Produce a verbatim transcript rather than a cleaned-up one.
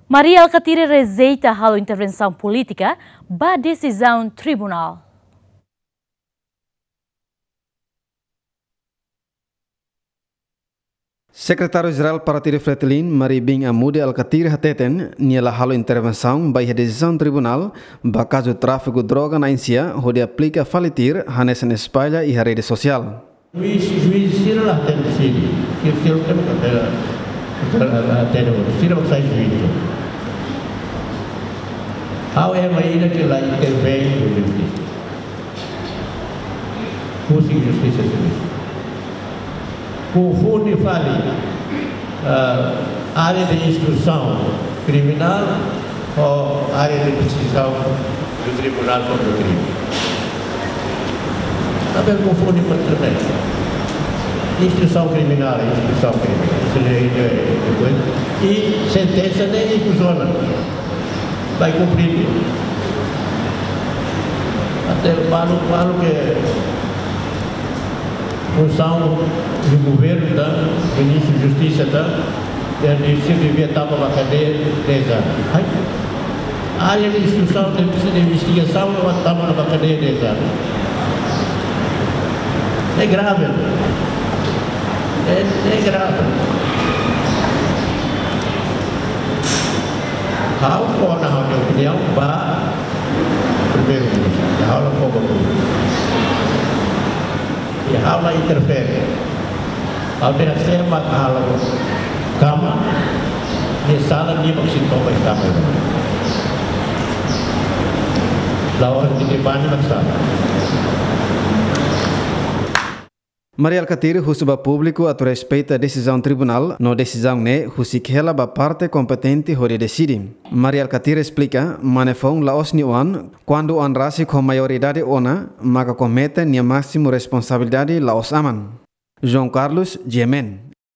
Mari Alkatiri rejeita halo intervensaun polítika ba desizaun tribunál. Sekretáriu Jerál Partidu Fretilin, Mari Bin Amude Alkatiri hateten, nia la halo intervensaun ba iha desizaun tribunál ba kazu tráfiku droga na'in-sia, hodi aplika fali tuir, hanesan espalla iha rede sosiál. Juís, juís sira la hatene sira, sira, sira la hatene, sira la hatene, sira la sai juís. Ha'u ema ida ke la intervein iha justisa. Husi justisa servisu. Konfunde fali, ah, área de instrusaun kriminál ho área de desizaun do Tribunal sobre o Crime. Tanba konfunde para também. Instrusaun kriminál, instrusaun kriminál. Isso é, é, é coisa. I sentensa ne'e ikus ona. Vai kumpre. Até balu, balu ke funsaun do governu, tá? Ministru Justisa, tá? Ele disse que devia estar para a cadeia dez anos. Ai, área de instrusaun, de, de investigasaun, ela estava na cadeia dez anos. É grave. É, é grave. Ha'u fó ha'u-nia opiniaun ba Primeiru-Ministru. Ha'u la fó ba públiku. I ha'u la interfere. Ha'u dehan sé mak halo kama, nia sala, nia mak sei toba kama. La'ós nia bani mak sala. Mari Alkatiri husu ba públiku atu respeita desizaun tribunál, no desizaun ne'e husik hela ba parte kompetente hodi deside. Mari Alkatiri esplika, mane foun la'ós nia oan, kuandu oan rasik ho maioridade ona, maka komete nia másimu responsabilidade la'ós aman. João Carlos, G M N.